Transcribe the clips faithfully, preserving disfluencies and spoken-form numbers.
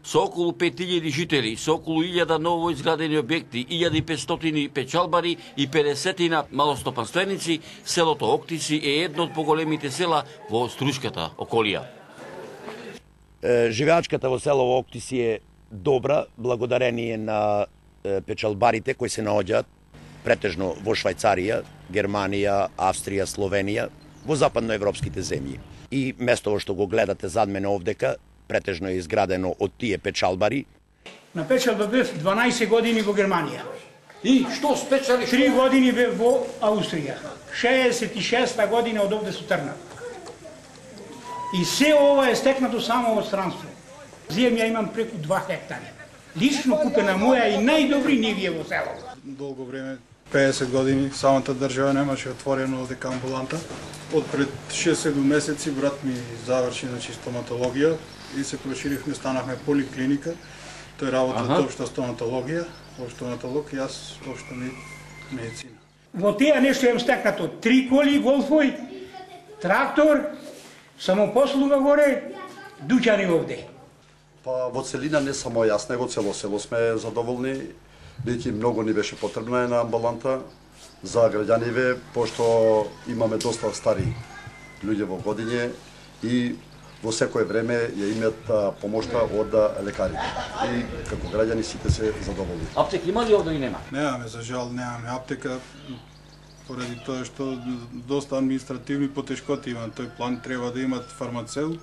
Со околу пет илјади жители, со околу илјада ново изградени објекти, илјада и петстотини печалбари и педесетина малостопанственици, селото Октиси е едно од поголемите села во Струшката околија. Живеачката во село Октиси е добра, благодарение на печалбарите кои се наоѓаат претежно во Швајцарија, Германија, Австрија, Словенија, во западноевропските земји. И место во што го гледате зад мене овдека, претежно е изградено од тие печалбари. На печалба бев дванаесет години во Германија. И што спечали? Три години бев во Австрија. шеесет и шеста година од овде сутрна. И се ова е стекнато само од странство. Земја имам преку два хектари. Лично купена моја и најдобри нивија во село. Долго време, пеесет години, самата држава немаше отворено овдека амбуланта. Од пред шест-седум месеци брат ми заврши значи стоматологија и се проширивме, станахме поликлиника. Тој работи од општа стоматологија, општа стоматолог и јас општа медицина. Во теја нешто имам стекнато три коли, голфој, трактор, самопослуга горе, дуќани овде. Па во целина не само јас, него цело село сме задоволни, бидејќи многу ни беше потребна една амбуланта за граѓаниве, пошто имаме доста стари луѓе во годиње и во секое време ја имаат помошта од лекарите. И како граѓани сите се задоволни. Аптека има ли овде или нема? Немаме, за жал, немаме аптека, поради тоа што доста административни потешкоти има. Тој план треба да имат фармацеут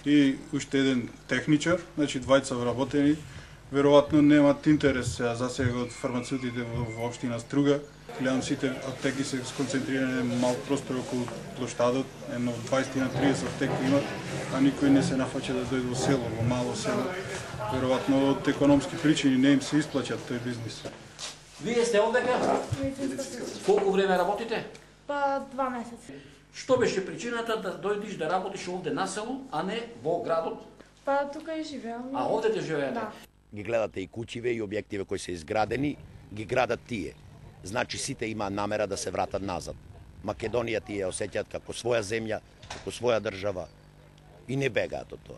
и уште еден техничар, значи двајца вработени. Веројатно немаат интерес за сега од фармацеутите во општина Струга. Гледам сите аптеки се сконцентрирани на мал простор околу плоштадот, едно дваесет на триесет аптеки имат, а никој не се нафаќа да дојде во село, во мало село. Веројатно од економски причини не им се исплаќа тој бизнис. Вие сте овдека? Колку време работите? Па два месеци. Што беше причината да дојдеш да работиш овде на село, а не во градот? Па тука и живеам. А овде те живеете? Да. Ги гледате и куќиве и објективе кои се изградени, ги градат тие. Значи сите има намера да се вратат назад. Македонија тие осеќаат како своја земја, како своја држава и не бегаат од тоа.